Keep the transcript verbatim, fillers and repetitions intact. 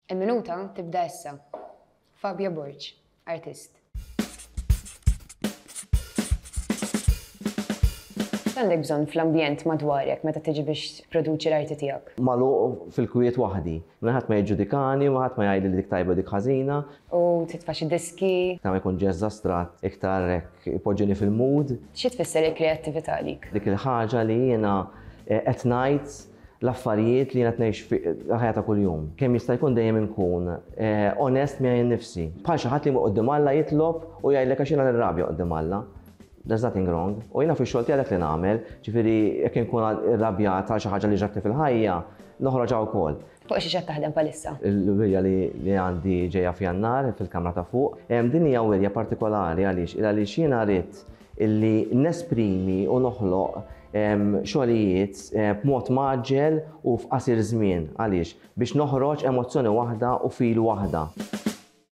Il-minuta tibda issa. Fabio Borg, artist. Għandek bżonn fl-ambjent madwarek meta tiġi biex produċi l-arti tiegħek? Magħluq fil-kwiet waħdi. Minn ħadd ma jiġġudikani, ma ħadd ma jgħidli li dik tajba dik ħażina. U titfa' xi diski. Ta' ma jkun jazz astrat iktar hekk ipoġġini fil-mood. Xi tfisser il-kreattività għalik? Dik il-ħaġa li jiena qed ngħid l-affarijiet li jiena qed ngħix fil-ħajja ta' kuljum. Kemm jista' jkun dejjem inkun onest miegħi nnifsi. Bħal xi ħadd li quddiem Alla jitlob u jgħidlek għax jiena nirrabja quddiem Alla. There's nothing wrong. U jiena fix-xogħol tiegħi dak li nagħmel, ġifieri jekk inkun irrabjat għal xi ħaġa li ġratni fil-ħajja, noħroġha wkoll. Fuq xi qed taħdem bħalissa? Il-wirja li għandi ġejja f'Jannar fil-kamra ta' fuq. Din hija wirja partikolari għaliex għaliex jiena rrid illi nesprimi u noħloq xogħlijiet b'mod mgħaġġel u f'qasir żmien. Għaliex? Biex noħroġ emozzjoni waħda u fil waħda.